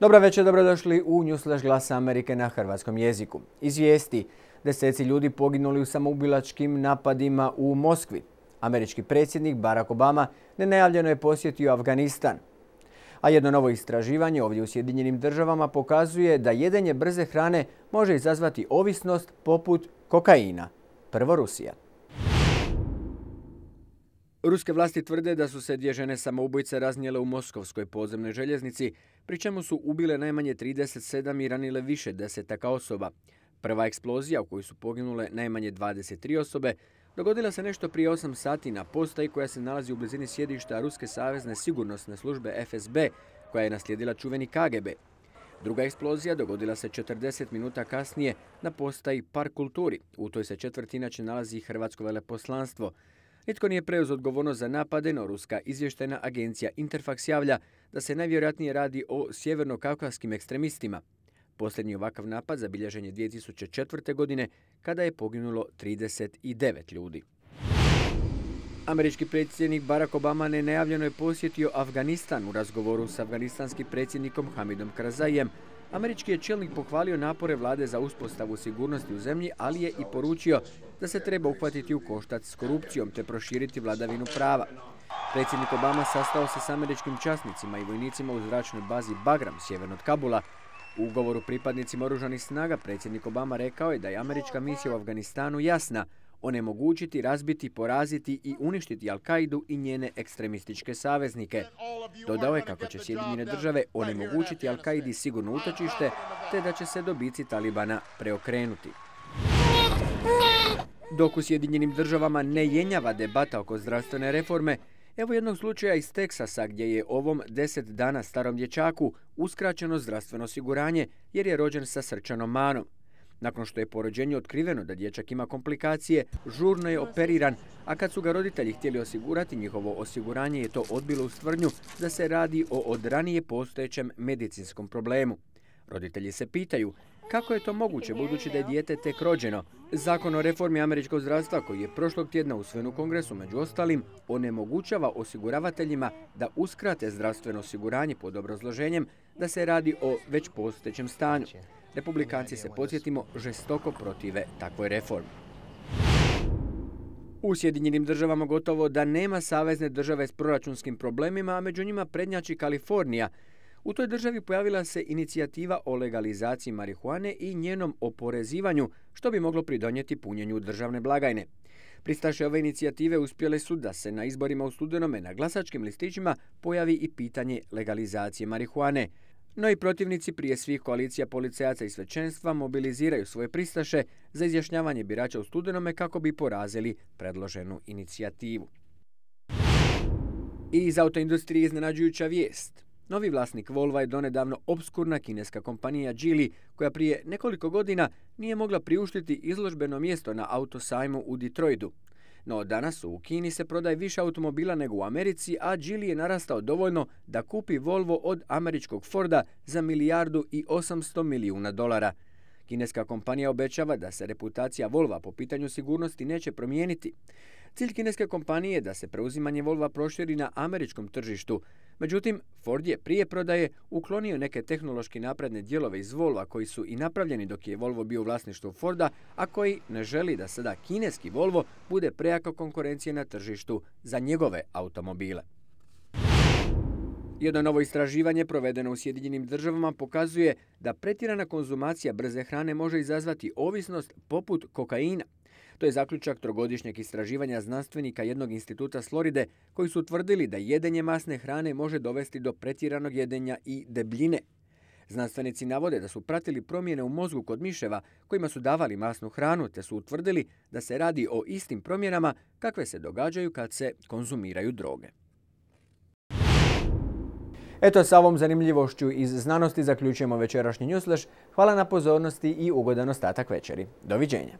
Dobra večer, dobrodošli u Newsflash Glasa Amerike na hrvatskom jeziku. Iz vijesti: deseci ljudi poginuli u samoubilačkim napadima u Moskvi. Američki predsjednik Barack Obama nenajavljeno je posjetio Afganistan. A jedno novo istraživanje ovdje u Sjedinjenim Državama pokazuje da jedenje brze hrane može izazvati ovisnost poput kokaina. Prvo Rusija. Ruske vlasti tvrde da su se dvije žene samoubojice raznijele u moskovskoj podzemnoj željeznici, pri čemu su ubile najmanje 37 i ranile više desetaka osoba. Prva eksplozija, u kojoj su poginule najmanje 23 osobe, dogodila se nešto prije 8 sati na postaji koja se nalazi u blizini sjedišta Ruske savezne sigurnosne službe FSB, koja je naslijedila čuveni KGB. Druga eksplozija dogodila se 40 minuta kasnije na postaji Park kulturi. U toj se četvrti inače nalazi hrvatsko veleposlanstvo. Nitko nije preuzeo odgovornost za napade, no ruska izvještajna agencija Interfax javlja da se najvjerojatnije radi o sjeverno-kaukaskim ekstremistima. Posljednji ovakav napad zabilježen je 2004. godine kada je poginulo 39 ljudi. Američki predsjednik Barack Obama nenajavljeno je posjetio Afganistan. U razgovoru s afganistanskim predsjednikom Hamidom Karzaiem, američki je čelnik pohvalio napore vlade za uspostavu sigurnosti u zemlji, ali je i poručio da se treba uhvatiti u koštac s korupcijom te proširiti vladavinu prava. Predsjednik Obama sastao se s američkim časnicima i vojnicima u zračnoj bazi Bagram sjeverno od Kabula. U ugovoru pripadnicima oružanih snaga predsjednik Obama rekao je da je američka misija u Afganistanu jasna: onemogućiti, razbiti, poraziti i uništiti Al-Kaidu i njene ekstremističke saveznike. Dodao je kako će Sjedinjene Države onemogućiti Al-Kaidi sigurno utočište, te da će se dobici Talibana preokrenuti. Dok u Sjedinjenim Državama ne jenjava debata oko zdravstvene reforme, evo jednog slučaja iz Teksasa gdje je ovom 10 dana starom dječaku uskraćeno zdravstveno osiguranje jer je rođen sa srčanom manom. Nakon što je po rođenju otkriveno da dječak ima komplikacije, žurno je operiran, a kad su ga roditelji htjeli osigurati njihovo osiguranje je to odbilo uz tvrdnju da se radi o od ranije postojećem medicinskom problemu. Roditelji se pitaju kako je to moguće budući da je dijete tek rođeno. Zakon o reformi američkog zdravstva koji je prošlog tjedna usvojen u Kongresu među ostalim onemogućava osiguravateljima da uskrate zdravstveno osiguranje pod obrazloženjem da se radi o već postojećem stanju. Republikanci se, podsjetimo, žestoko protive takvoj reformi. U Sjedinjenim Državama gotovo da nema savezne države s proračunskim problemima, a među njima prednjači Kalifornija. U toj državi pojavila se inicijativa o legalizaciji marihuane i njenom oporezivanju, što bi moglo pridonijeti punjenju državne blagajne. Pristaše ove inicijative uspjele su da se na izborima u studenome na glasačkim listićima pojavi i pitanje legalizacije marihuane. No i protivnici prije svih koalicija policajaca i svećenstva mobiliziraju svoje pristaše za izjašnjavanje birača u studenome kako bi porazili predloženu inicijativu. I iz autoindustrije iznenađujuća vijest. Novi vlasnik Volva je donedavno opskurna kineska kompanija Geely, koja prije nekoliko godina nije mogla priuštiti izložbeno mjesto na autosajmu u Detroitu. No danas u Kini se prodaje više automobila nego u Americi, a Geely je narastao dovoljno da kupi Volvo od američkog Forda za $1,8 milijuna. Kineska kompanija obećava da se reputacija Volva po pitanju sigurnosti neće promijeniti. Cilj kineske kompanije je da se preuzimanje Volva proširi na američkom tržištu. Međutim, Ford je prije prodaje uklonio neke tehnološki napredne dijelove iz Volva koji su i napravljeni dok je Volvo bio u vlasništvu Forda, a koji ne želi da sada kineski Volvo bude prejaka konkurencija na tržištu za njegove automobile. Jedno novo istraživanje provedeno u Sjedinjenim Državama pokazuje da pretjerana konzumacija brze hrane može izazvati ovisnost poput kokaina. To je zaključak trogodišnjeg istraživanja znanstvenika jednog instituta s Floride koji su utvrdili da jedenje masne hrane može dovesti do pretjeranog jedenja i debljine. Znanstvenici navode da su pratili promjene u mozgu kod miševa kojima su davali masnu hranu, te su utvrdili da se radi o istim promjenama kakve se događaju kad se konzumiraju droge. Eto, sa ovom zanimljivošću iz znanosti zaključujemo večerašnji Newsflash. Hvala na pozornosti i ugodan ostatak večeri. Doviđenja.